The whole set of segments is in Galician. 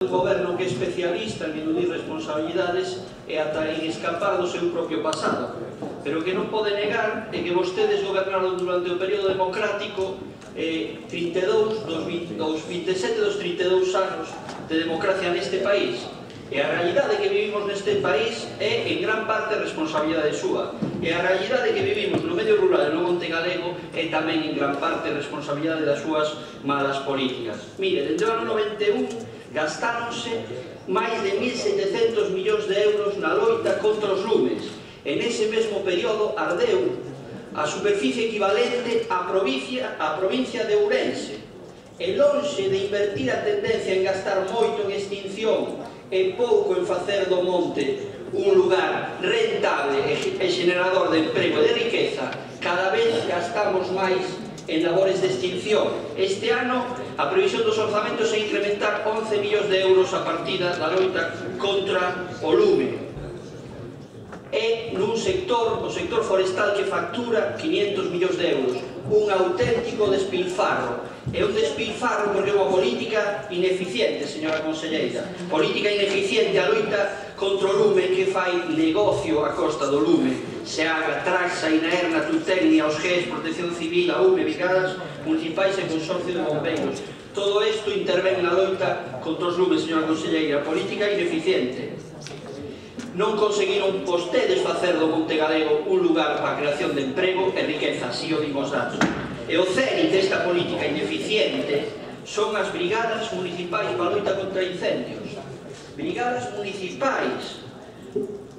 Un goberno que é especialista en eludir responsabilidades e ata en escapar do seu propio pasado, pero que non pode negar é que vostedes gobernaron durante o período democrático 32 dos 27 dos 32 anos de democracia neste país, e a realidade que vivimos neste país é en gran parte responsabilidade súa, e a realidade que vivimos no medio rural e no monte galego é tamén en gran parte responsabilidade das súas malas políticas. Mire, desde o ano 91 gastáronse máis de 1.700 millóns de euros na loita contra os lumes, e nese mesmo período ardeu a superficie equivalente á provincia de Ourense, e lonxe de invertir a tendencia en gastar moito en extinción e pouco en facer do monte un lugar rentable e generador de emprego e de riqueza, cada vez gastamos máis en labores de extinción. Este ano a previsión dos orzamentos é incrementar 11 millóns de euros a partida da loita contra o lume. É nun sector, o sector forestal, que factura 500 millóns de euros, un auténtico despilfarro. É un despilfarro porque é unha política ineficiente, señora conselleira, política ineficiente a loita contra o lume, que fai negocio a costa do lume. Seaga, Traxa, Inaerna, Tutecnia, os GES, Protección Civil, a UME, Brigadas Municipais e Consorcio de Bombeiros. Todo isto intervén na loita contra os lumes, señora conselleira, política ineficiente. Non conseguiron vostedes facer do Monte Galego un lugar para a creación de emprego e riqueza, así o dimos datos. E o cénit desta política ineficiente son as brigadas municipais para a loita contra incendios. Brigadas municipais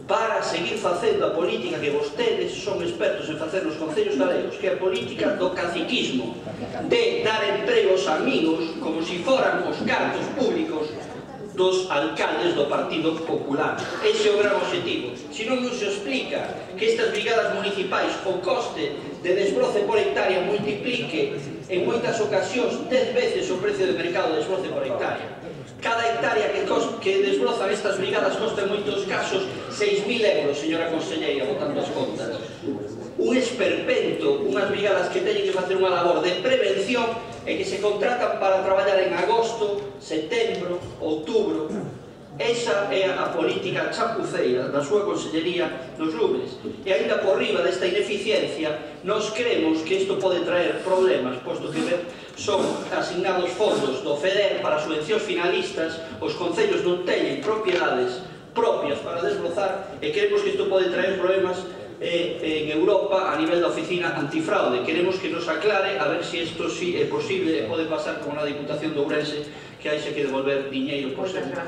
para seguir facendo a política que vostedes son expertos en facer nos concellos galegos, que é a política do caciquismo, de dar emprego aos amigos como se foran os cartos públicos dos alcaldes do Partido Popular. Ese é o gran objetivo. Se non nos explica que estas brigadas municipais o coste de desbroce por hectárea multiplique en moitas ocasións 10 veces o precio de mercado de desbroce por hectárea. Cada hectárea que desbrozan estas brigadas costa en moitos casos 6.000 euros, señora conselleira, botando as contas. Un esperpento, unhas brigadas que teñen que facer unha labor de prevención e que se contratan para traballar en agosto, setembro, outubro. Esa é a política chapuceira da súa consellería nos lumes. E ainda por riba desta ineficiencia, nós creemos que isto pode traer problemas, posto que son asignados fondos do FEDER para subvencións finalistas, os concellos non teñen propiedades propias para desbrozar, e creemos que isto pode traer problemas en Europa a nivel da oficina antifraude. Queremos que nos aclare a ver se isto sí é posible e pode pasar como na Diputación de Ourense, que hai que devolver diñeiro por sempre.